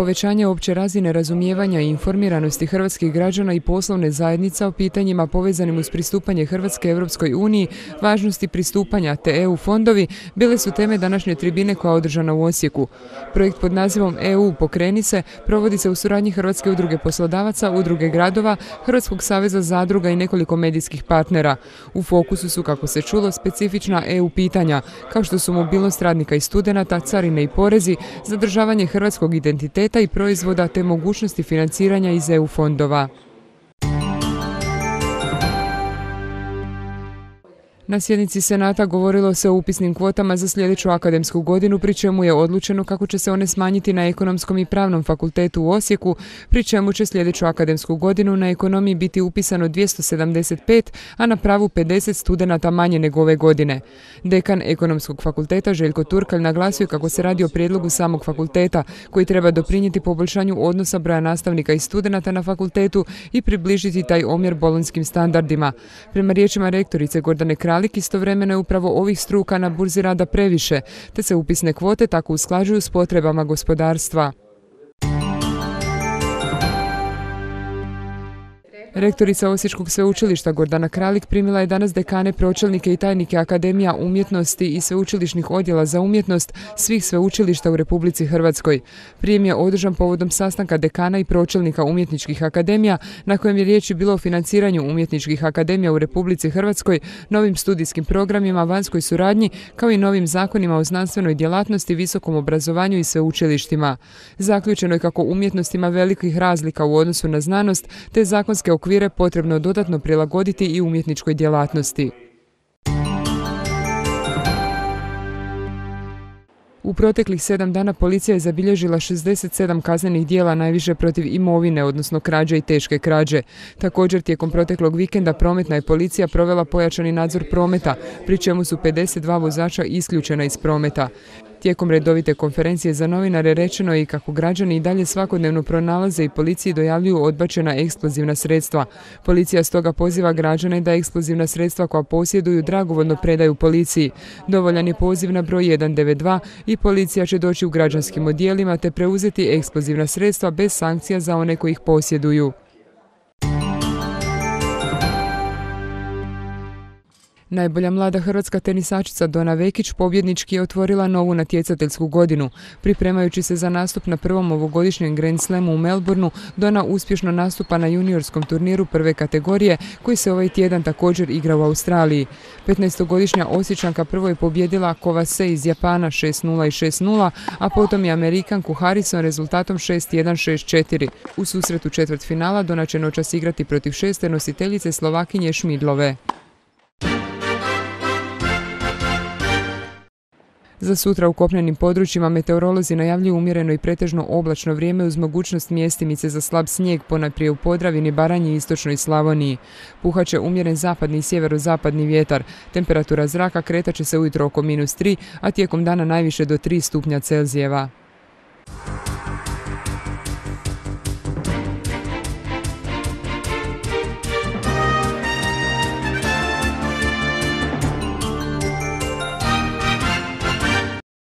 povećanje opće razine razumijevanja i informiranosti hrvatskih građana i poslovne zajednica o pitanjima povezanim uz pristupanje Hrvatske Europskoj uniji, važnosti pristupanja te EU fondovi bile su teme današnje tribine koja je održana u Osijeku. Projekt pod nazivom EU Pokreni se provodi se u suradnji Hrvatske udruge poslodavaca, udruge gradova, Hrvatskog saveza zadruga i nekoliko medijskih partnera. U fokusu su, kako se čulo, specifična EU pitanja, kao što su mobilnost radnika i studenata, carine i porezi, zadržavanje hrvatskog identiteta i proizvoda te mogućnosti financiranja iz EU fondova. Na sjednici Senata govorilo se o upisnim kvotama za sljedeću akademsku godinu, pri čemu je odlučeno kako će se one smanjiti na Ekonomskom i Pravnom fakultetu u Osijeku, pri čemu će sljedeću akademsku godinu na ekonomiji biti upisano 275, a na pravu 50 studenata manje nego ove godine. Dekan Ekonomskog fakulteta Željko Turkalj naglasio kako se radi o prijedlogu samog fakulteta, koji treba doprinijeti poboljšanju odnosa broja nastavnika i studenata na fakultetu i približiti taj omjer bolonjskim standardima. Prema riječima rektorice Gordane Kralj, istovremeno je upravo ovih struka na burzi rada previše, te se upisne kvote tako usklađuju s potrebama gospodarstva. Rektorica Osječkog sveučilišta Gordana Kralik primila je danas dekane, pročelnike i tajnike Akademija umjetnosti i sveučilišnih odjela za umjetnost svih sveučilišta u Republici Hrvatskoj. Prijem je održan povodom sastanka dekana i pročelnika umjetničkih akademija, na kojem je riječ bilo o financiranju umjetničkih akademija u Republici Hrvatskoj, novim studijskim programima, vanjskoj suradnji, kao i novim zakonima o znanstvenoj djelatnosti, visokom obrazovanju i sveučilištima. Zaključeno je kako umjetnost ima velikih razlika u odnosu na znanost, te zakonske okvire potrebno dodatno prilagoditi i umjetničkoj djelatnosti. U proteklih 7 dana policija je zabilježila 67 kaznenih djela, najviše protiv imovine, odnosno krađe i teške krađe. Također, tijekom proteklog vikenda prometna je policija provela pojačani nadzor prometa, pri čemu su 52 vozača isključena iz prometa. Tijekom redovite konferencije za novinare rečeno je i kako građani i dalje svakodnevno pronalaze i policiji dojavljuju odbačena eksplozivna sredstva. Policija stoga poziva građane da eksplozivna sredstva koja posjeduju dragovoljno predaju policiji. Dovoljan je poziv na broj 192 i policija će doći u građanskim odjelima te preuzeti eksplozivna sredstva bez sankcija za one koji ih posjeduju. Najbolja mlada hrvatska tenisačica Dona Vekić pobjednički je otvorila novu natjecateljsku godinu. Pripremajući se za nastup na prvom ovogodišnjem Grand Slamu u Melbourneu, Dona uspješno nastupa na juniorskom turniru prve kategorije koji se ovaj tjedan također igra u Australiji. 15-godišnja Osječanka prvo je pobjedila Kovase iz Japana 6:0 i 6:0, a potom je Amerikanku Harrison rezultatom 6:1, 6:4. U susretu četvrtfinala Dona će noćas igrati protiv šeste nositeljice Slovakinje Šmidlove. Za sutra u kopnenim područjima meteorolozi najavljuju umjereno i pretežno oblačno vrijeme uz mogućnost mjestimice za slab snijeg, ponajprije u Podravini, Baranji i istočnoj Slavoniji. Puhat će umjeren zapadni i sjeverozapadni vjetar. Temperatura zraka kretat će se ujutro oko -3, a tijekom dana najviše do 3 stupnja Celzijeva.